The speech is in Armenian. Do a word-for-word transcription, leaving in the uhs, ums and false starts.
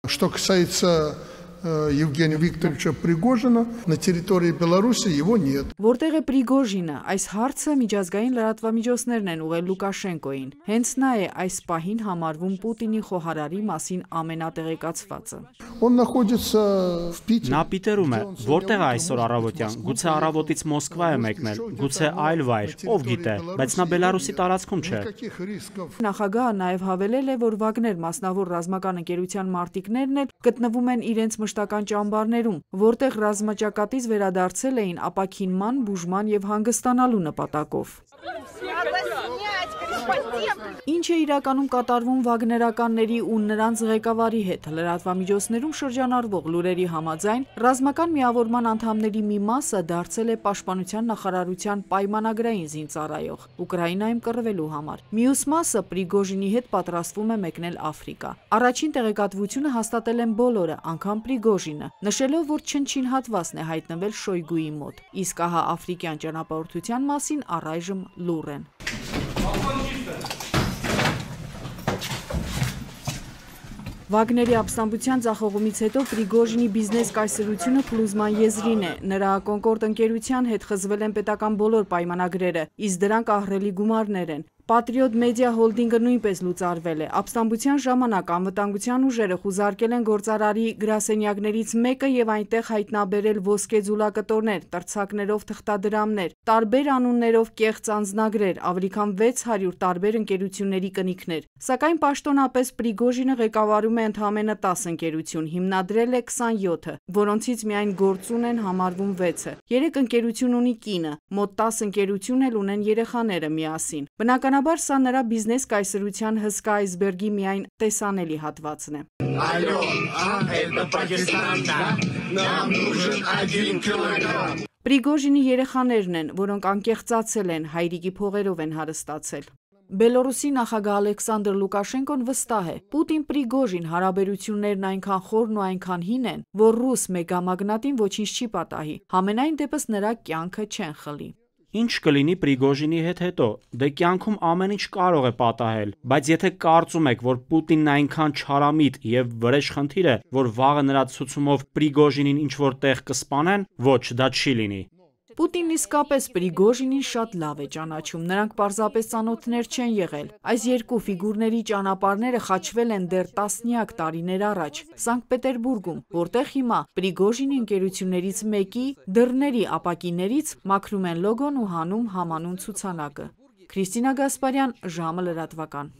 Что касается Евгения Викторовича Пригожина, на территории Беларуси его нет. Որտեղ է Պրիգոժինը, այս հարցը միջազգային լրատվամիջոցներն են ուղղել Լուկաշենկոին։ Հենց նա է այս պահին համարվում Պուտինի խոհարարի մասին ամենատեղեկացվածը։ Он находится в Питере. Նա Պիտերում է, որտեղ է այսօր առավոտյան, գուցե առավոտից Մոսկվա է մեկնել, գուցե այլ վայր, ով գիտե, բայց նա Բելարուսի տարածքում չէ։ Նախագահը նաև հավելել է, որ Վագներ մասնավոր ռազմական ընկերության մարտիկներն էլ գտնվում են իրենց մշտական ճամբարներում, որտեղ ռազմաճակատից վերադարձել էին ապաքինման, բուժման եւ հանգստանալու նպատակով։ Ինչ է իրականում կատարվում վագներականների ու նրանց ղեկավարի հետ, լրատվամիջոցներում շրջանառվող լուրերի համաձայն, ռազմական միավորման անդամների մի մասը դարձել է պաշտպանության նախարարության պայմանագրային զինծառայող, Ուկրաինայում կռվելու համար։ Մյուս մասը Պրիգոժինի հետ պատրաստվում է մեկնել Աֆրիկա։ Առաջին տեղեկատվությունը հաստատել են բոլորը, անգամ Պրիգոժինը, նշելով, որ չնչին հատվածն է հայտնվել Շոյգուի մոտ, իսկ ահա աֆրիկյան ճանապարհորդության մասին առայժմ լուռ են։ Վագների ապստամբության ձախողումից հետո Պրիգոժինի բիզնես կայսրությունը փլուզման եզրին է։ Նրա Կոնկորդ ընկերության հետ խզվել են պետական բոլոր պայմանագրերը, իսկ դրանք ահռելի գումարներ են։ Patriot Media Holding-ը նույնպես լուծարվել է։ Ապստամբության ժամանակ անվտանգության ուժերը խուզարկել են գործարարի գրասենյակներից մեկը եւ այնտեղ հայտնաբերել ոսկե ձուլակտորներ, տրցակներով թղթադրամներ, տարբեր անուններով կեղծ անձնագրեր, ավելի քան վեց հարյուր տարբեր ընկերությունների կնիքներ։ Սակայն պաշտոնապես Պրիգոժինը ղեկավարում է ընդամենը տասը ընկերություն, հիմնադրել է քսանյոթը, որոնցից միայն գործուն են համարվում վեցը։ Երեք ընկերություն ունի կինը, մոտ տասը ընկերություն էլ ունեն երեխաները միասին։ Բնականաբար սա նրա բիզնես կայսրության հսկա այսբերգի միայն տեսանելի հատվածն է։ Պրիգոժինի երեխաներն են, որոնք անկեղծացել են, հայրիկի փողերով են հարստացել։ Բելորուսի նախագահ Ալեքսանդր Լուկաշենկոն վստահ է, Պուտին-Պրիգոժին հարաբերություններն այնքան խորն ու այնքան հին են, որ ռուս մեգամագնատին ոչինչ չի պատահի, համենայն դեպս նրա կյանքը չեն խլի։ Ինչ կլինի Պրիգոժինի հետ հետո, դե կյանքում ամեն ինչ կարող է պատահել, բայց եթե կարծում եք, որ Պուտինն այնքան չարամիտ եւ վրեժխնդիր է, որ վաղը նրա ցուցումով Պրիգոժինին ինչ-որ տեղ կսպանեն, ոչ, դա չի լինի։ Պուտինն իսկապես Պրիգոժինին շատ լավ է ճանաչում, նրանք պարզապես ծանոթներ չեն եղել։ Այս երկու ֆիգուրների ճանապարհները խաչվել են դեռ տասնյակ տարիներ առաջ, Սանկտ Պետերբուրգում, որտեղ հիմա Պրիգոժինի ընկերություններից մեկի դռների ապակիներից մաքրում են լոգոն ու հանում համանուն ցուցանակը։ Քրիստինա Գասպարյան, ժամը լրատվական։